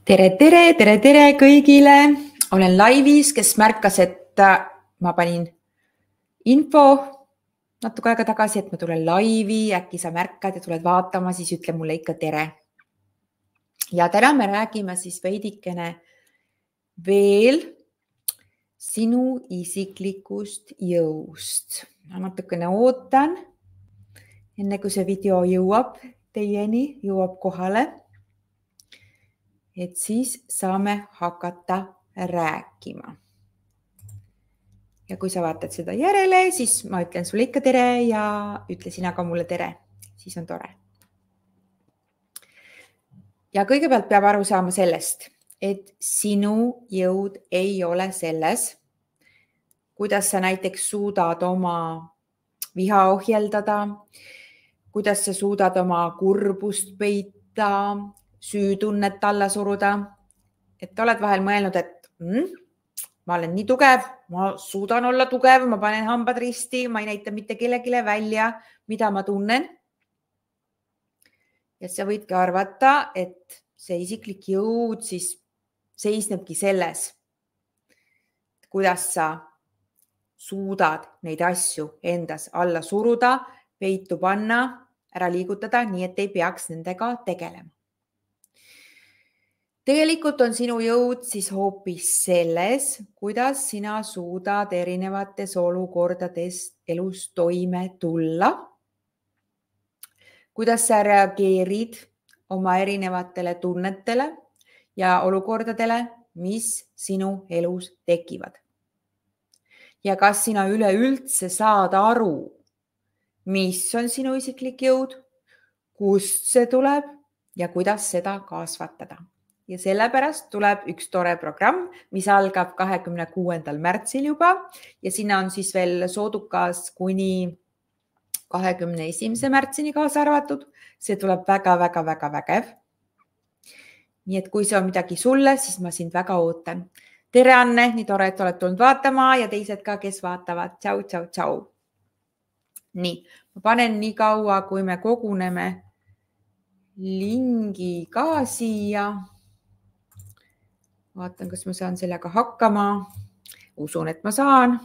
Tere kõigile! Olen laivis, kes märkas, et ma panin info natuke aega tagasi, et ma tulen laivi, äkki sa märkad ja tuled vaatama, siis ütle mulle ikka tere. Ja täna me räägime siis veidikene veel sinu isiklikust jõust. Ma natukene ootan, enne kui see video jõuab teieni, jõuab kohale. Et siis saame hakata rääkima. Ja kui sa vaatad seda järele, siis ma ütlen sulle ikka tere ja ütle sina ka mulle tere. Siis on tore. Ja kõigepealt peab aru saama sellest, et sinu jõud ei ole selles, kuidas sa näiteks suudad oma viha ohjeldada, kuidas sa suudad oma kurbust peita, süütunnet alla suruda, et oled vahel mõelnud, et ma olen nii tugev, ma suudan olla tugev, ma panen hambad risti, ma ei näita mitte kellelegi välja, mida ma tunnen. Ja sa võidki arvata, et see isiklik jõud siis seisnebki selles, kuidas sa suudad neid asju endas alla suruda, peitu panna, ära liigutada, nii et ei peaks nendega tegelema. Tegelikult on sinu jõud siis hoopis selles, kuidas sina suudad erinevates olukordades elus toime tulla, kuidas sa reageerid oma erinevatele tunnetele ja olukordadele, mis sinu elus tekivad. Ja kas sina üleüldse saad aru, mis on sinu isiklik jõud, kust see tuleb ja kuidas seda kasvatada. Ja sellepärast tuleb üks tore programm, mis algab 26. märtsil juba ja sinna on siis veel soodukas kuni 21. märtsini kaasa arvatud. See tuleb väga vägev. Nii et kui see on midagi sulle, siis ma sind väga ootan. Tere Anne, nii tore, et oled tulnud vaatama ja teised ka, kes vaatavad. Tšau. Nii, ma panen nii kaua, kui me koguneme lingi ka siia. Vaatan, kas ma saan sellega hakkama. Usun, et ma saan.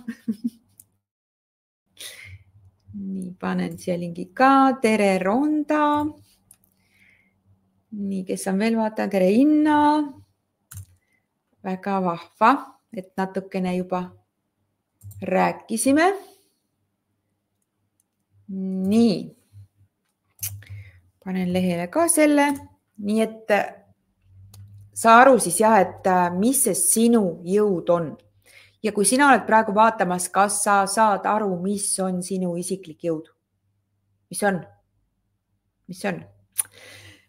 Nii, panen siia lingi ka. Tere Ronda. Nii, kes on veel vaatan? Tere Inna. Väga vahva, et natukene juba rääkisime. Nii, panen lehele ka selle. Nii, et sa aru siis jah, et mis see sinu jõud on. Ja kui sina oled praegu vaatamas, kas sa saad aru, mis on sinu isiklik jõud? Mis on?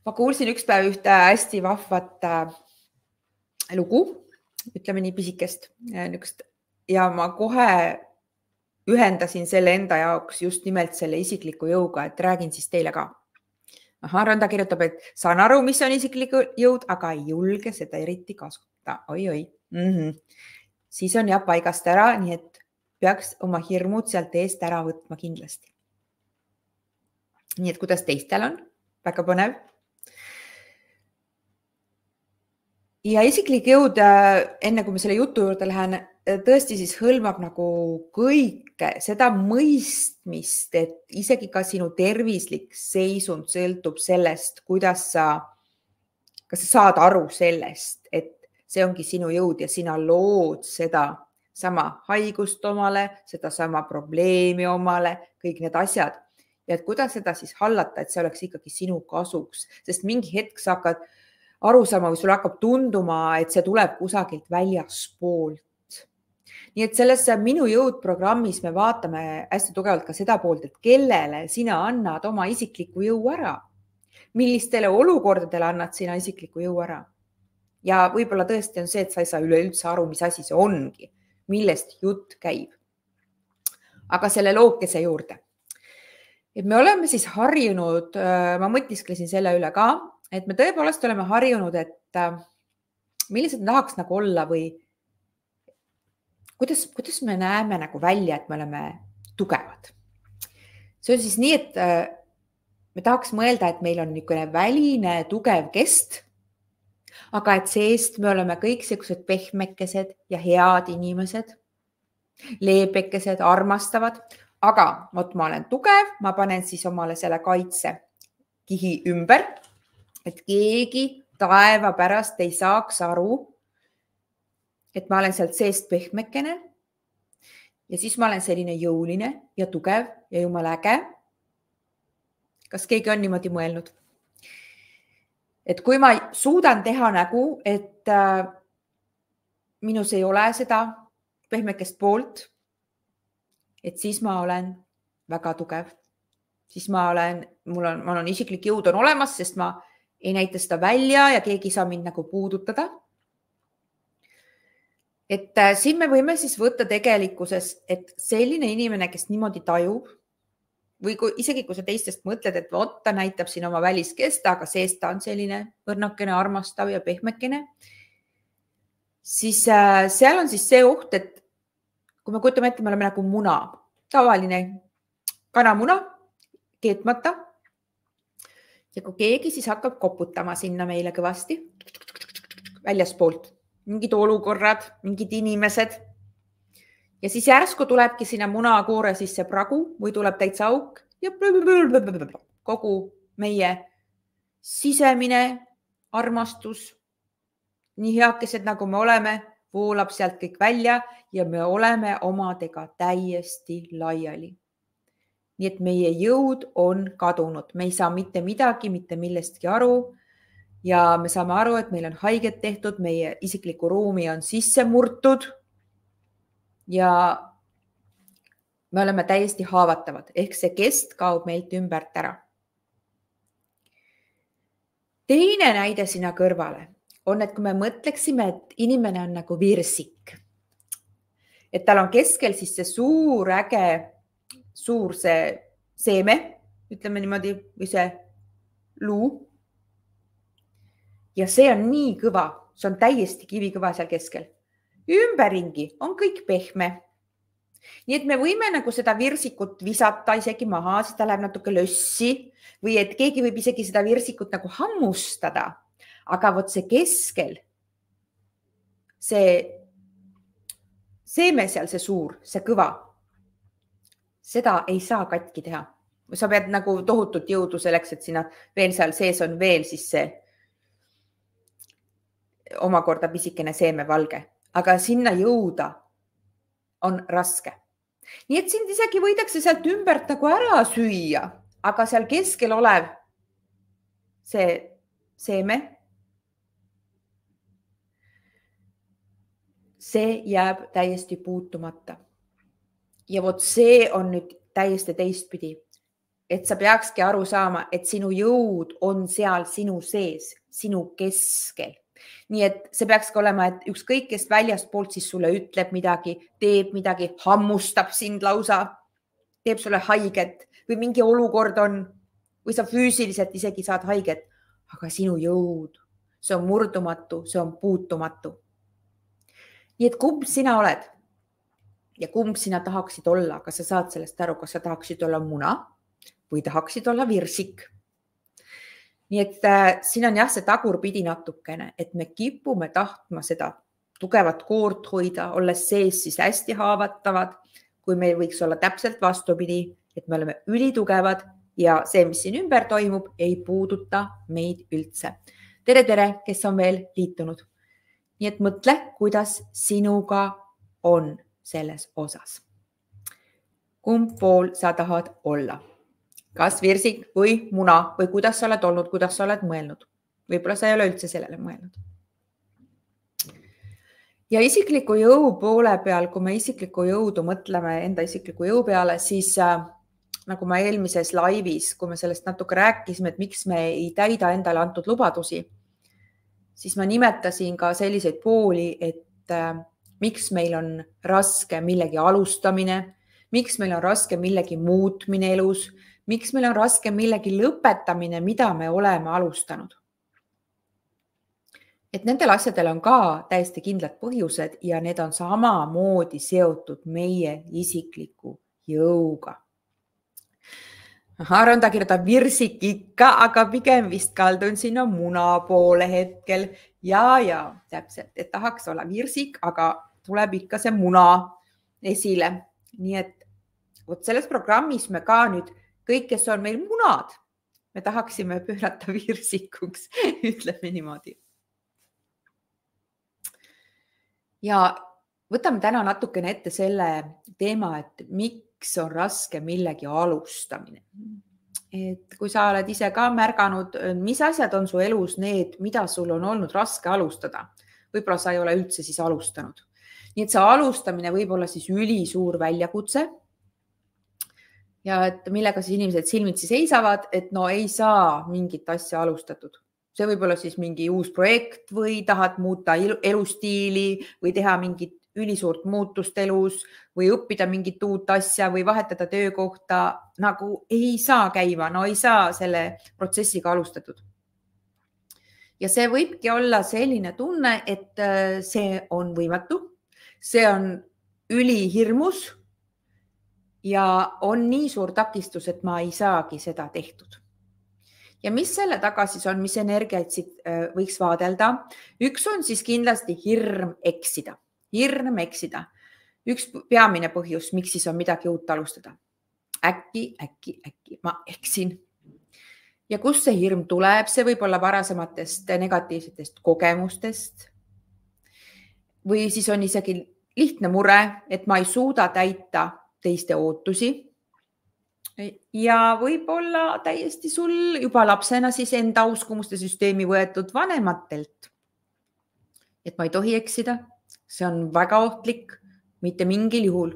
Ma kuulsin üks päev ühte hästi vahvat lugu, ütleme nii pisikest. Ja ma kohe ühendasin selle enda jaoks just nimelt selle isikliku jõuga, et räägin siis teile ka. Ronda kirjutab, et saan aru, mis on isiklik jõud, aga ei julge seda eriti kasutada. Oi. Siis on jah paigast ära, nii et peaks oma hirmud sealt eest ära võtma kindlasti. Nii et kuidas teistel on? Väga põnev. Ja isiklik jõud, enne kui me selle jutu juurde lähen, tõesti siis hõlmab nagu kõike seda mõistmist, et isegi ka sinu tervislik seisund sõltub sellest, kas sa saad aru sellest, et see ongi sinu jõud ja sina lood seda sama haigust omale, seda sama probleemi omale, kõik need asjad. Ja et kuidas seda siis hallata, et see oleks ikkagi sinu kasuks, sest mingi hetk sa hakkad aru saama või sul hakkab tunduma, et see tuleb kusagilt väljaspoolt. Nii et selles Minu jõud programmis me vaatame hästi tugevalt ka seda poolt, et kellele sina annad oma isikliku jõu ära. Millistele olukordadele annad sina isikliku jõu ära. Ja võib-olla tõesti on see, et sa ei saa üleüldse aru, mis asi see ongi, millest jutt käib. Aga selle lookese juurde. Et me oleme siis harjunud, ma mõtisklesin selle üle ka, et me tõepoolest oleme harjunud, et millised tahaks nagu olla või kuidas me näeme nagu välja, et me oleme tugevad. See on siis nii, et me tahaks mõelda, et meil on niisugune väline tugev kest, aga et seest me oleme kõik sellised pehmekesed ja head inimesed, leebekesed, armastavad, aga vot ma olen tugev, ma panen siis omale selle kaitsekihi ümber, et keegi taeva pärast ei saaks aru, et ma olen sealt seest pehmekene ja siis ma olen selline jõuline ja tugev ja jumala äge. Kas keegi on niimoodi mõelnud? Et kui ma suudan teha nägu, et minus ei ole seda pehmekest poolt, et siis ma olen väga tugev. Siis ma olen isiklik jõud on olemas, sest ma ei näita seda välja ja keegi ei saa mind nagu puudutada. Et siin me võime siis võtta tegelikkuses, et selline inimene, kes niimoodi tajub, või isegi kui sa teistest mõtled, et vot ta näitab siin oma väliskesta, aga seest ta on selline õrnakene, armastav ja pehmekene, siis seal on siis see oht, et kui me kujutame ette, me oleme nagu muna, tavaline kanamuna, keetmata. Ja kui keegi siis hakkab koputama sinna meile kõvasti väljaspoolt, mingid olukorrad, mingid inimesed. Ja siis järsku tulebki sinna munakoore sisse pragu või tuleb täitsa auk ja kogu meie sisemine armastus, nii heakesed nagu me oleme, voolab sealt kõik välja ja me oleme omadega täiesti laiali. Nii et meie jõud on kadunud, me ei saa mitte midagi, mitte millestki aru ja me saame aru, et meil on haiget tehtud, meie isikliku ruumi on sisse murtud. Ja me oleme täiesti haavatavad, ehk see kest kaob meilt ümbert ära. Teine näide sinna kõrvale on, et kui me mõtleksime, et inimene on nagu virsik, et tal on keskel siis see suur äge, suur see seeme, ütleme niimoodi, või see luu. Ja see on nii kõva, see on täiesti kivikõva seal keskel. Ümberringi on kõik pehme. Nii et me võime nagu seda virsikut visata isegi maha, siis ta läheb natuke lössi või et keegi võib isegi seda virsikut nagu hammustada. Aga vot see keskel, see seeme seal, see suur, see kõva, seda ei saa katki teha. Sa pead nagu tohutut jõudu selleks, et sinna veel seal sees on veel siis see omakorda pisikene seeme valge. Aga sinna jõuda on raske. Nii et sind isegi võidakse sealt ümbert nagu ära süüa, aga seal keskel olev see seeme, see jääb täiesti puutumata. Ja vot see on nüüd täiesti teistpidi, et sa peakski aru saama, et sinu jõud on seal sinu sees, sinu keskel. Nii et see peaks ka olema, et ükskõik, kes väljastpoolt siis sulle ütleb midagi, teeb midagi, hammustab sind lausa, teeb sulle haiget või mingi olukord on või sa füüsiliselt isegi saad haiget, aga sinu jõud, see on murdumatu, see on puutumatu. Nii et kumb sina oled ja kumb sina tahaksid olla, kas sa saad sellest aru, kas sa tahaksid olla muna või tahaksid olla virsik? Nii et siin on jah see tagurpidi natukene, et me kipume tahtma seda tugevat koort hoida, olles sees siis hästi haavatavad, kui meil võiks olla täpselt vastupidi, et me oleme ülitugevad ja see, mis siin ümber toimub, ei puuduta meid üldse. Tere, kes on veel liitunud. Nii et mõtle, kuidas sinuga on selles osas. Kumb pool sa tahad olla? Kas virsik või muna või kuidas sa oled olnud, kuidas sa oled mõelnud. Võib-olla sa ei ole üldse sellele mõelnud. Ja isikliku jõu poole peal, kui me isikliku jõudu mõtleme enda isikliku jõu peale, siis nagu ma eelmises laivis, kui me sellest natuke rääkisime, et miks me ei täida endale antud lubadusi, siis ma nimetasin ka selliseid pooli, et miks meil on raske millegi alustamine, miks meil on raske millegi muutmine elus, miks meil on raske millegi lõpetamine, mida me oleme alustanud. Et nendel asjadel on ka täiesti kindlad põhjused ja need on samamoodi seotud meie isikliku jõuga. Aaron ta kirjutab virsik ikka, aga pigem vist kaldun sinna muna poole hetkel. Ja täpselt, et tahaks olla virsik, aga tuleb ikka see muna esile. Nii et vot selles programmis me ka nüüd kõik, kes on meil munad, me tahaksime pöörata virsikuks, ütleme niimoodi. Ja võtame täna natukene ette selle teema, et miks on raske millegi alustamine. Et kui sa oled ise ka märganud, mis asjad on su elus need, mida sul on olnud raske alustada. Võib-olla sa ei ole üldse siis alustanud. Nii et see alustamine võib olla siis ülisuur väljakutse. Ja et millega siis inimesed silmitsi seisavad, et no ei saa mingit asja alustatud. See võib olla siis mingi uus projekt või tahad muuta elustiili või teha mingit ülisuurt muutust elus või õppida mingit uut asja või vahetada töökohta, nagu ei saa käima, no ei saa selle protsessiga alustatud. Ja see võibki olla selline tunne, et see on võimatu, see on ülihirmus ja on nii suur takistus, et ma ei saagi seda tehtud. Ja mis selle taga siis on, mis energiaid siit võiks vaadelda? Üks on siis kindlasti hirm eksida. Hirm eksida. Üks peamine põhjus, miks siis on midagi uut alustada. Äkki ma eksin. Ja kust see hirm tuleb? See võib olla varasematest negatiivsetest kogemustest. Või siis on isegi lihtne mure, et ma ei suuda täita teiste ootusi. Ja võib-olla täiesti sul juba lapsena siis enda uskumuste süsteemi võetud vanematelt. Et ma ei tohi eksida. See on väga ohtlik, mitte mingil juhul.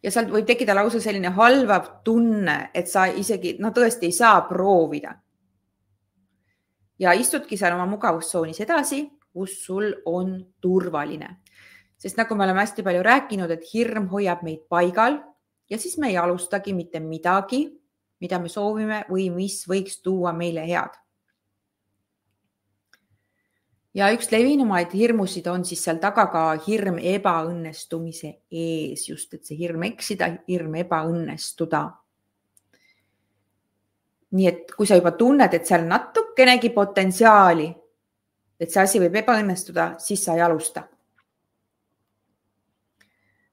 Ja sealt võib tekkida lausa selline halvav tunne, et sa isegi tõesti ei saa proovida. Ja istudki seal oma mugavustsoonis edasi, kus sul on turvaline. Sest nagu me oleme hästi palju rääkinud, et hirm hoiab meid paigal ja siis me ei alustagi mitte midagi, mida me soovime või mis võiks tuua meile head. Ja üks levinumaid hirmusid on siis seal taga ka hirm ebaõnnestumise ees, just et see hirm eksida, hirm ebaõnnestuda. Nii et kui sa juba tunned, et seal natukenegi potentsiaali, et see asi võib ebaõnnestuda, siis sa ei alusta.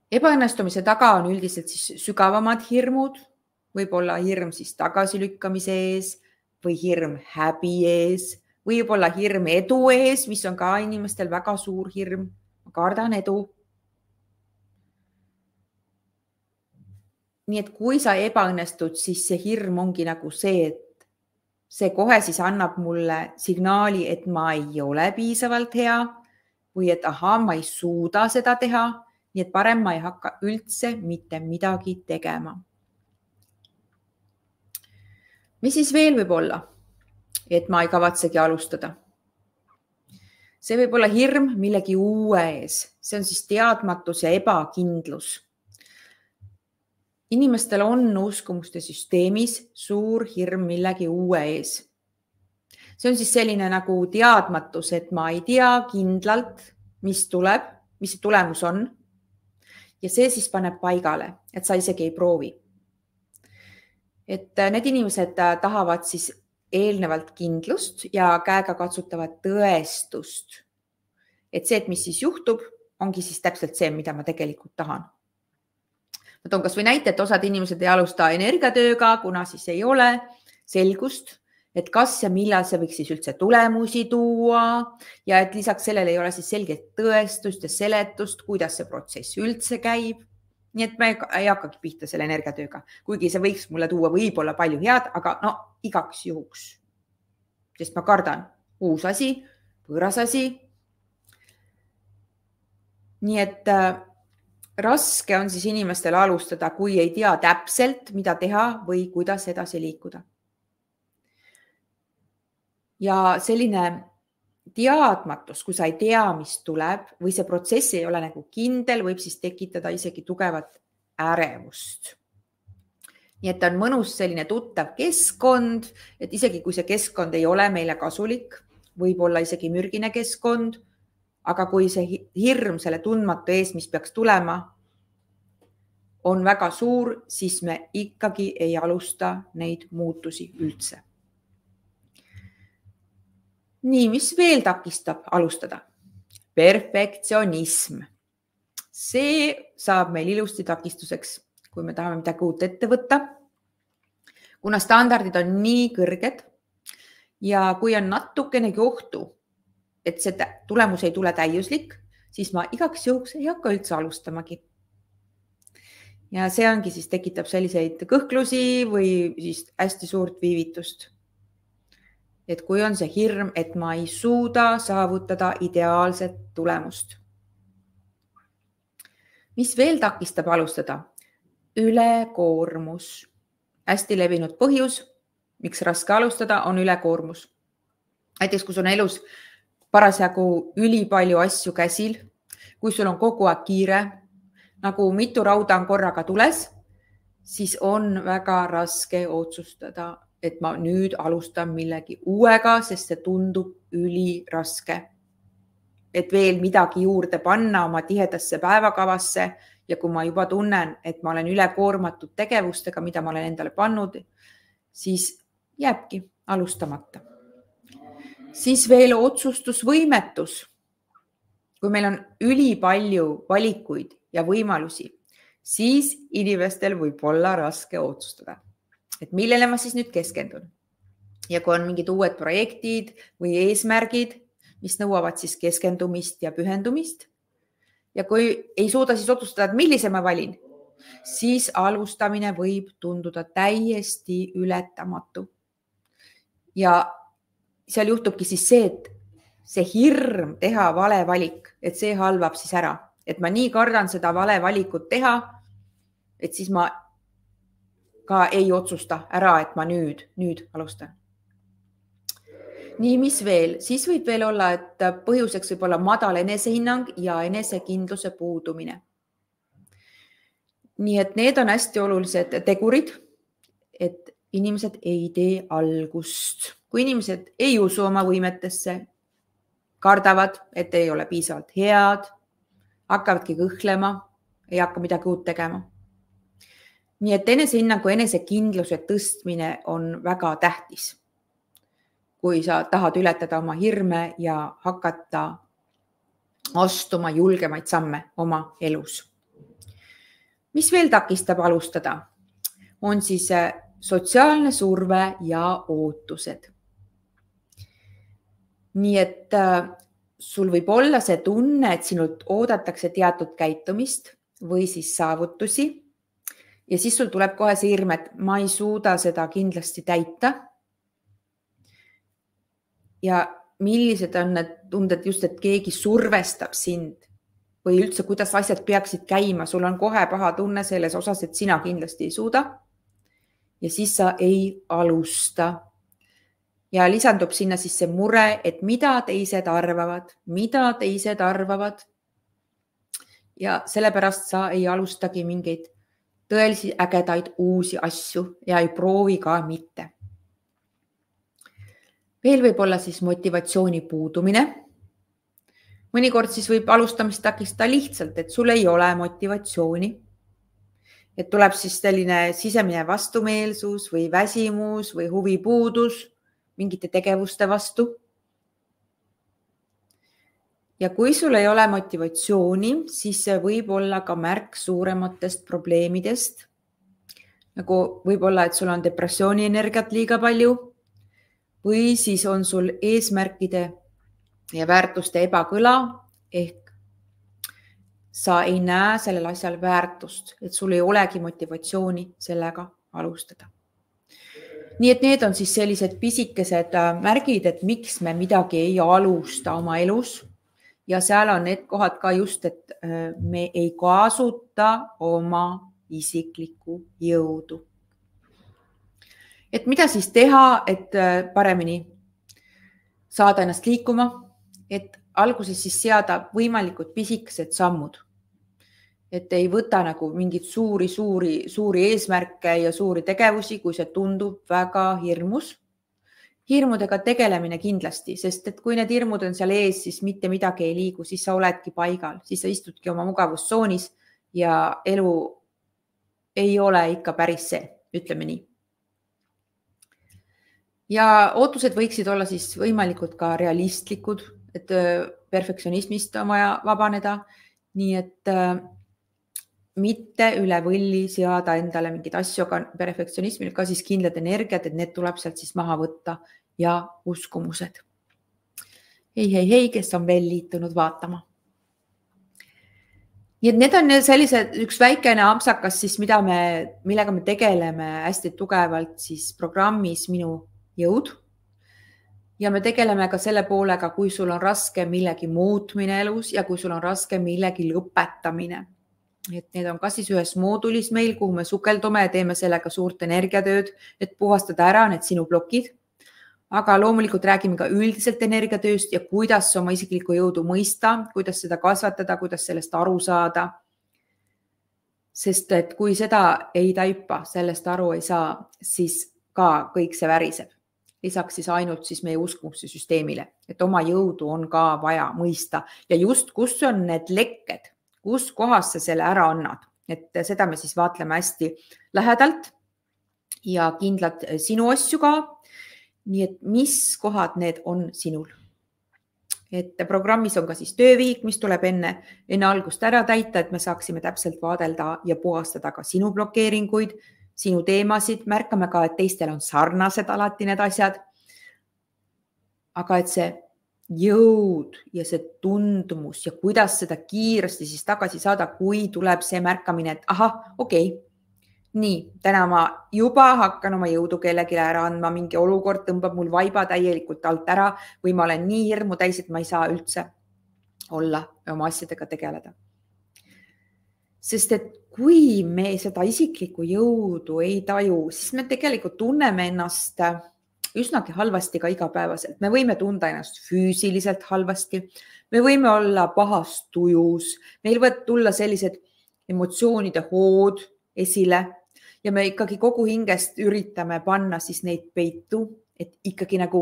Ebaõnnestumise taga on üldiselt siis sügavamad hirmud, võib olla hirm siis tagasilükkamise ees või hirm häbi ees, võib olla hirm edu ees, mis on ka inimestel väga suur hirm. Ma kardan edu. Nii et kui sa ebaõnnestud, siis see hirm ongi nagu see, et see kohe siis annab mulle signaali, et ma ei ole piisavalt hea või et ma ei suuda seda teha. Nii et parem ma ei hakka üldse mitte midagi tegema. Mis siis veel võib olla? Et ma ei kavatsegi alustada. See võib olla hirm millegi uue ees. See on siis teadmatus ja ebakindlus. Inimestel on uskumuste süsteemis suur hirm millegi uue ees. See on siis selline nagu teadmatus, et ma ei tea kindlalt, mis tuleb, mis see tulemus on. Ja see siis paneb paigale, et sa isegi ei proovi. Et need inimesed tahavad siis eelnevalt kindlust ja käega katsutavat tõestust. Et see, et mis siis juhtub, ongi siis täpselt see, mida ma tegelikult tahan. Ma toon kas või näite, et osad inimesed ei alusta energiatööga, kuna siis ei ole selgust, et kas ja millal see võiks siis üldse tulemusi tuua ja et lisaks sellele ei ole siis selget tõestust ja seletust, kuidas see protsess üldse käib. Nii et me ei hakkagi pihta selle energiatööga, kuigi see võiks mulle tuua võib-olla palju head, aga igaks juhuks. Sest ma kardan uus asi, võõras asi. Nii et raske on siis inimestel alustada, kui ei tea täpselt, mida teha või kuidas edasi liikuda. Ja selline teadmatus, kui sa ei tea, mis tuleb või see protsess ei ole nagu kindel, võib siis tekitada isegi tugevat ärevust. Nii et on mõnus selline tuttav keskkond, et isegi kui see keskkond ei ole meile kasulik, võib olla isegi mürgine keskkond, aga kui see hirm selle tundmatu ees, mis peaks tulema, on väga suur, siis me ikkagi ei alusta neid muutusi üldse. Nii, mis veel takistab alustada? Perfektsionism. See saab meil ilusti takistuseks, kui me tahame midagi uut ette võtta. Kuna standardid on nii kõrged ja kui on natukenegi ohtu, et see tulemus ei tule täiuslik, siis ma igaks juhuks ei hakka üldse alustamagi. Ja see ongi siis tekitab selliseid kõhklusi või siis hästi suurt viivitust. Et kui on see hirm, et ma ei suuda saavutada ideaalset tulemust. Mis veel takistab alustada? Ülekoormus. Hästi levinud põhjus, miks raske alustada, on ülekoormus. Näiteks, kui sul on elus parasjagu ülipalju asju käsil, kui sul on kogu aeg kiire, nagu mitu rauda on korraga tules, siis on väga raske otsustada, et ma nüüd alustan millegi uuega, sest see tundub üliraske. Et veel midagi juurde panna oma tihedasse päevakavasse ja kui ma juba tunnen, et ma olen ülekoormatud tegevustega, mida ma olen endale pannud, siis jääbki alustamata. Siis veel otsustusvõimetus. Kui meil on ülipalju valikuid ja võimalusi, siis inimestel võib olla raske otsustada. Et millele ma siis nüüd keskendun? Ja kui on mingid uued projektid või eesmärgid, mis nõuavad siis keskendumist ja pühendumist, ja kui ei suuda siis otsustada, et millise ma valin, siis alustamine võib tunduda täiesti ületamatu. Ja seal juhtubki siis see, et see hirm teha vale valik, et see halvab siis ära. Et ma nii kardan seda vale valikut teha, et siis ma ka ei otsusta ära, et ma nüüd alustan. Nii, mis veel? Siis võib veel olla, et põhjuseks võib olla madal enesehinnang ja enesekindluse puudumine. Nii, et need on hästi olulised tegurid, et inimesed ei tee algust. Kui inimesed ei usu oma võimetesse, kardavad, et ei ole piisavalt head, hakkavadki kõhklema, ei hakka midagi uut tegema. Nii, et enesehinnangu enesekindluse tõstmine on väga tähtis. Kui sa tahad ületada oma hirme ja hakata astuma julgemaid samme oma elus. Mis veel takistab alustada? On siis sotsiaalne surve ja ootused. Nii et sul võib olla see tunne, et sinult oodatakse teatud käitumist või siis saavutusi ja siis sul tuleb kohe see hirm, et ma ei suuda seda kindlasti täita. Ja millised on need tunded just, et keegi survestab sind või üldse, kuidas asjad peaksid käima. Sul on kohe paha tunne selles osas, et sina kindlasti ei suuda ja siis sa ei alusta. Ja lisandub sinna siis see mure, et mida teised arvavad. Ja sellepärast sa ei alustagi mingeid tõelisi ägedaid uusi asju ja ei proovi ka mitte. Veel võib olla siis motivatsiooni puudumine. Mõnikord siis võib alustamist takistada lihtsalt, et sul ei ole motivatsiooni. Et tuleb siis selline sisemine vastumeelsus või väsimus või huvipuudus mingite tegevuste vastu. Ja kui sul ei ole motivatsiooni, siis see võib olla ka märk suurematest probleemidest. Nagu võib olla, et sul on depressiooni energiat liiga palju või siis on sul eesmärkide ja väärtuste ebakõla ehk sa ei näe sellel asjal väärtust, et sul ei olegi motivatsiooni sellega alustada. Nii et need on siis sellised pisikesed märgid, et miks me midagi ei alusta oma elus ja seal on need kohad ka just, et me ei kasuta oma isiklikku jõudu. Et mida siis teha, et paremini saada ennast liikuma, et alguses siis seada võimalikud pisikesed sammud. Et ei võta nagu mingid suuri eesmärke ja suuri tegevusi, kui see tundub väga hirmus. Hirmudega tegelemine kindlasti, sest et kui need hirmud on seal ees, siis mitte midagi ei liigu, siis sa oledki paigal, siis sa istudki oma mugavustsoonis ja elu ei ole ikka päris see, ütleme nii. Ja ootused võiksid olla siis võimalikult ka realistlikud, et perfektsionismist on vaja vabaneda, nii et mitte üle võlli seada endale mingid asju, aga perfektsionismil ka siis kindlad energiat, et need tuleb sealt siis maha võtta ja uskumused. Hei, kes on veel liitunud vaatama. Nii et need on sellised üks väikene ampsakas siis, millega me tegeleme hästi tugevalt siis programmis Minu jõud. Ja me tegeleme ka selle poolega, kui sul on raske millegi muutmine elus ja kui sul on raske millegi lõpetamine. Et need on ka siis ühes moodulis meil, kuhu me sukeldume ja teeme sellega suurt energiatööd, et puhastada ära need sinu plokid. Aga loomulikult räägime ka üldiselt energiatööst ja kuidas oma isiklikku jõudu mõista, kuidas seda kasvatada, kuidas sellest aru saada. Sest et kui seda ei taipa, sellest aru ei saa, siis ka kõik see väriseb. Lisaks siis ainult siis meie uskumuste süsteemile, et oma jõudu on ka vaja mõista ja just kus on need lekked, kus kohas sa selle ära annad, et seda me siis vaatleme hästi lähedalt ja kindlad sinu asju ka. Nii et mis kohad need on sinul? Et programmis on ka siis töövihik, mis tuleb enne algust ära täita, et me saaksime täpselt vaadelda ja puhastada ka sinu blokeeringuid, sinu teemasid. Märkame ka, et teistel on sarnased alati need asjad. Aga et see jõud ja see tundumus ja kuidas seda kiiresti siis tagasi saada, kui tuleb see märkamine, et okei. Nii, täna ma juba hakkan oma jõudu kellelegi ära andma, mingi olukord tõmbab mul vaiba täielikult alt ära või ma olen nii hirmu täis, et ma ei saa üldse olla ja oma asjadega tegeleda. Sest et kui me seda isiklikku jõudu ei taju, siis me tegelikult tunneme ennast üsnagi halvasti ka igapäevaselt. Me võime tunda ennast füüsiliselt halvasti, me võime olla pahas tujus, meil võivad tulla sellised emotsioonide hood esile ja me ikkagi kogu hingest üritame panna siis neid peitu, et ikkagi nagu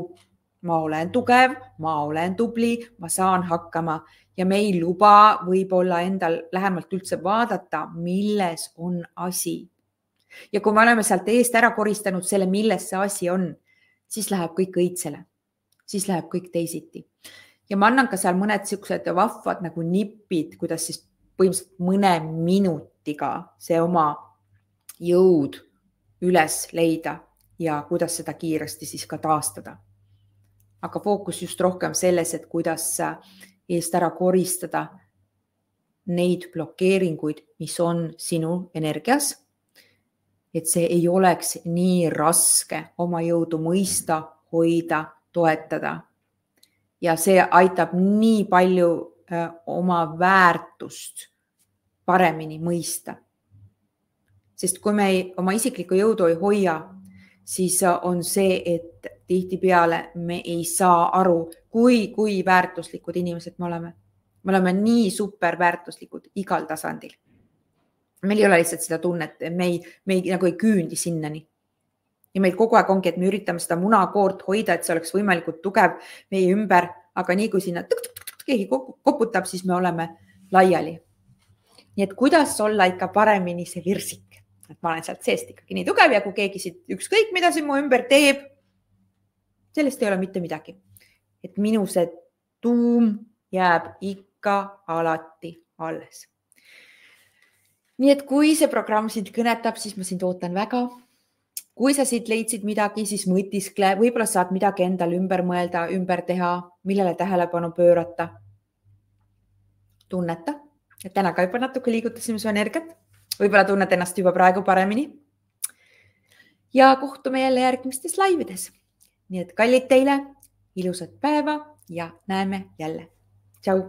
ma olen tugev, ma olen tubli, ma saan hakkama ja me ei luba võib-olla endal lähemalt üldse vaadata, milles on asi. Ja kui me oleme sealt eest ära koristanud selle, milles see asi on, siis läheb kõik õitsele, siis läheb kõik teisiti. Ja ma annan ka seal mõned siuksed vahvad nagu nipid, kuidas siis põhimõtteliselt mõne minutiga see oma jõud üles leida ja kuidas seda kiiresti siis ka taastada. Aga fookus just rohkem selles, et kuidas eest ära koristada neid blokeeringuid, mis on sinu energias. Et see ei oleks nii raske oma jõudu mõista, hoida, toetada. Ja see aitab nii palju oma väärtust paremini mõista. Sest kui me oma isiklikku jõudu ei hoia, siis on see, et tihtipeale me ei saa aru, kui väärtuslikud inimesed me oleme. Me oleme nii super väärtuslikud igal tasandil. Meil ei ole lihtsalt seda tunnet, me nagu ei küündi sinnani. Ja meil kogu aeg ongi, et me üritame seda munakoort hoida, et see oleks võimalikult tugev meie ümber, aga nii kui sinna keegi koputab, siis me oleme laiali. Nii et kuidas olla ikka paremini see virsik? Et ma olen sealt seest ikkagi nii tugev ja kui keegi siit ükskõik, mida siin mu ümber teeb, sellest ei ole mitte midagi. Et minu see tuum jääb ikka alati alles. Nii et kui see programm sind kõnetab, siis ma sind ootan väga. Kui sa siit leidsid midagi, siis mõtiskle, võib-olla saad midagi endal ümber mõelda, ümber teha, millele tähelepanu pöörata. Tunneta, et täna ka juba natuke liigutasime su energiat. Võib-olla tunned ennast juba praegu paremini. Ja kohtume jälle järgmistes laivides. Nii et kallid teile, ilusat päeva ja näeme jälle. Tšau!